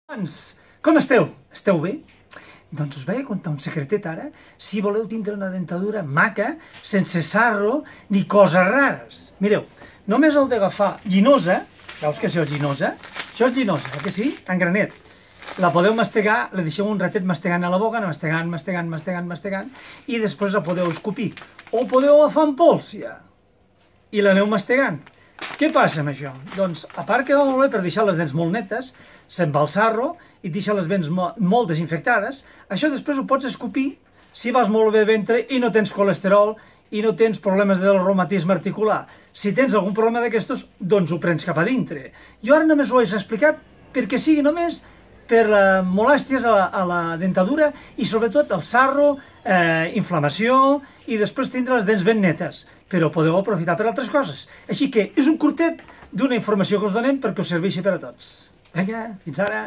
Doncs, com esteu? Esteu bé? Doncs us vaig a contar un secretet ara, si voleu tindre una dentadura maca, sense sarro ni coses rares. Mireu, només heu d'agafar llinosa, veus que això és llinosa? Això és llinosa, que sí? En granet. La podeu mastegar, la deixeu un ratet mastegant a la boca, mastegant, i després la podeu escopir. O podeu agafar en pols, ja, i l'aneu mastegant. Què passa amb això? Doncs, a part que va molt bé per deixar les dents molt netes, se'n va el sarro i deixa les dents molt desinfectades, això després ho pots escopir si vas molt bé de ventre i no tens colesterol i no tens problemes del reumatisme articular. Si tens algun problema d'aquestos, doncs ho prens cap a dintre. Jo ara només ho he explicat perquè sigui només per molèsties a la dentadura i sobretot el sarro, inflamació i després tindre les dents ben netes. Però podeu aprofitar per altres coses. Així que és un curtet d'una informació que us donem perquè us serveixi per a tots. Vinga, fins ara!